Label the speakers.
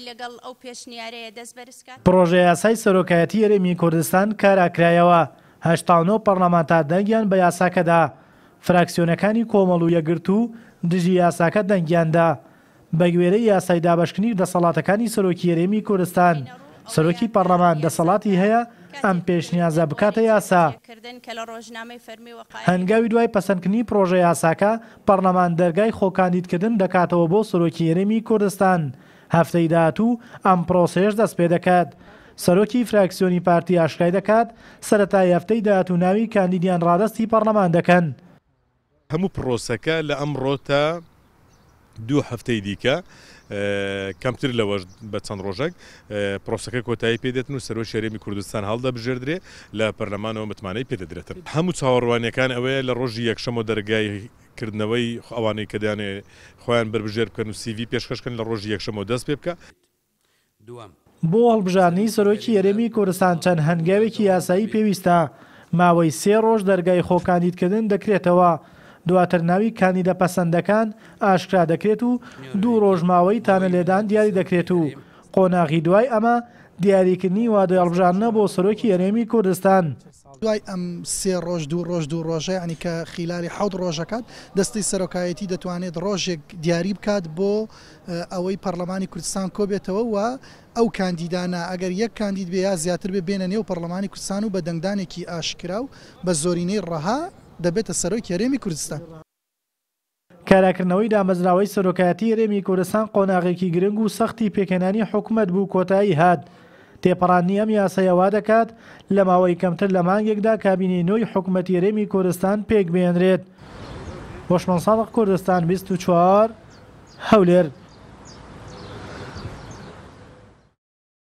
Speaker 1: لەگەڵ ئەو پێشنیارەیە دەست بەرز کات.
Speaker 2: پڕۆژەیاسای سەرۆکایەتی هەرێمی کوردستان کاراکرایەوە، 89 پەڕلەمانتار دەنگیان بە یاساکە دا، فراکسیۆنەکانی کۆمەڵ و یەکگرتوو دژی یاساکە دەنگیان دا. بەگوێرەی یاسای دابەشکردنی دەسەڵاتەکانی سەرۆکی هەرێمی کوردستان، سەرۆکی پەڕلەمان دەسەڵاتی هەیە ئەم پێشنیازە بکاتە یاسا. هەنگاوی دوای پەسەندکردنی پڕۆژە یاساکە، پەڕلەمان دەرگای خۆکاندیدکردن دەکاتەوە بۆ سەرۆکی هەرێمی کوردستان. هەفتەی داهاتوو ئەم پڕۆسەیەش دەستپێدەکات. سەرۆکی فراکسیۆنی پارتی ئاشکرای دەکات، سەرەتای هەفتەی داهاتوو ناوی کاندیدیان ڕادەستی پەڕلەمان دەکەن.
Speaker 3: هەموو پڕۆسەکە لە ئەمڕۆ تا دوو هەفتەی دیکە کەمتر لەوەش بە چەند ڕۆژێک پرۆسەکە کۆتایی پێ دێتن و سەرۆکی هەرێمی کوردستان هەڵدەبژێردرێ لە پەرلەمانەوە متمانەی پێ دەدرێتن. هەموو چاوەڕوانیەکان ئەوەیە لە ڕۆژی یەکشەمەوە دەرگای کردنەوەی ئەوانەی کە دەیانەوێ خۆیان بەربژێر بکەن و سیڤی پێشکەش کەن لە ڕۆژی یەکشەمەوە دەست پێ بکا.
Speaker 2: بۆ هەڵبژاردنی سەرۆکی هەرێمی کوردستان چەند هەنگاوێکی یاسایی پێویستە، ماوەی سێ ڕۆژ دەرگای خۆکاندیدکردن دەکرێتەوە، دواتر ناوی کاندیدە پەسەندەکان ئاشکرا دەکرێت و دوو ڕۆژ ماوەی تانەلێدان دیاری دەکرێت و قۆناغی دوای ئەمە دیاریکردنی وادەی هەڵبژاردنە بۆ سەرۆکی هەرێمی کوردستان.
Speaker 4: دوای ئەم سێ ڕۆژ دوو ڕۆژ دوو ڕۆژە یانی کە خیلالی حەوت ڕۆژەکات دەستەی سەرۆکایەتی دەتوانێت ڕۆژێک دیاری بکات بۆ ئەوەی پەڕلەمانی کوردستان کۆبێتەوە و ئەو کاندیدانە ئەگەر یەک کاندید بێ یا زیاتر بێ بێنە نێو پەڕلەمانی کوردستان و بە دەنگدانێکی ئاشکرا و بە زۆرینەی ڕەها دەبێتە سەرۆکی هەرێمی کوردستان.
Speaker 2: کاراکردنەوەی دامەزراوەی سەرۆکایەتی هەرێمی کوردستان قۆناغێکی گرنگ و سەختی پێکهێنانی حکومەت بوو کۆتایی هات. تێپەڕاندنی ئەم یاسایە وا دەکات لە ماوەی کەمتر لە مانگێکدا کابینەی نۆی حکومەتی هەرێمی کوردستان پێکبهێنرێت. هۆشمەند سادق کوردستان 24، هەولێر.